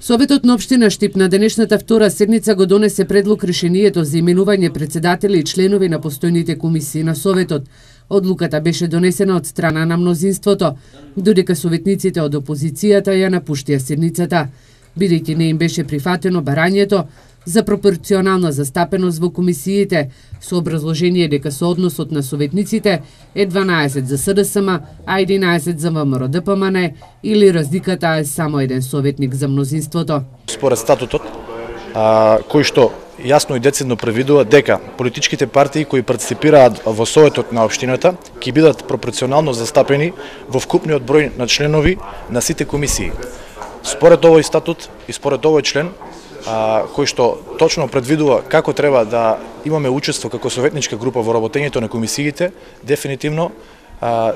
Советот на општина Штип на денешната втора седница го донесе предлог решението за именување председатели и членови на постојните комисии на Советот. Одлуката беше донесена од страна на мнозинството, додека советниците од опозицијата ја напуштија седницата, бидејќи не им беше прифатено барањето за пропорционална застапеност во комисиите, со образложение дека соодносот на советниците е 12 за СДСМ, а 11 за ВМРО-ДПМН, или разликата е само еден советник за мнозинството. Според статутот, кој што јасно и децидно превидува дека политичките партии кои партиципираат во Советот на општината ќе бидат пропорционално застапени во вкупниот број на членови на сите комисии. Според овој статут и според овој член, кој што точно предвидува како треба да имаме учество како советничка група во работењето на комисиите, дефинитивно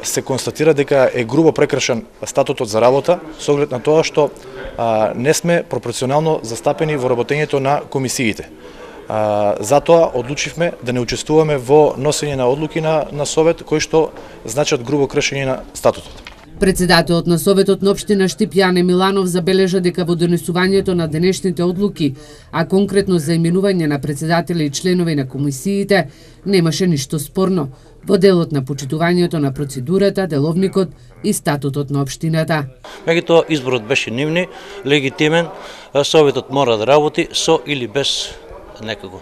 се констатира дека е грубо прекршен статутот за работа со оглед на тоа што не сме пропорционално застапени во работењето на комисиите. Затоа одлучивме да не учествуваме во носење на одлуки на Совет кои што значат грубо кршење на статутот. Председателот на Советот на општина Штип Јане Миланов забележа дека во донесувањето на денешните одлуки, а конкретно за именување на председатели и членови на комисиите, немаше ништо спорно во делот на почитувањето на процедурата, деловникот и статутот на општината. Меѓутоа изборот беше нивни, легитимен, Советот мора да работи со или без некако.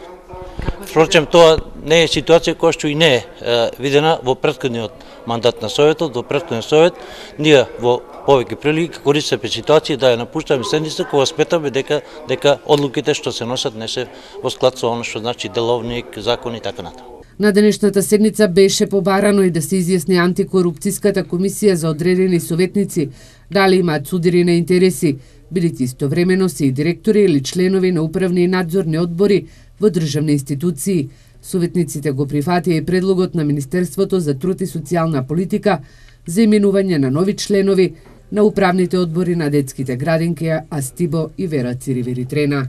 Впрочем, тоа не е ситуација која што и не е видена во претходниот мандат на Советот, во претходниот Совет. Ние во повеќе прилики користиме ситуација да ја напуштаме седница кога сметаме дека одлуките што се носат не се во склад со она што значи деловник, закон и така натаму. На денешната седница беше побарано и да се изјасни антикорупцијската комисија за одредени советници дали имаат судири на интереси, бидејќи истовремено се и директори или членови на управни и надзорни одбори во државни институции. Советниците го прифатија и предлогот на Министерството за труд и социјална политика за именување на нови членови на управните одбори на детските градинки Астибо и Вера Циривири Трена.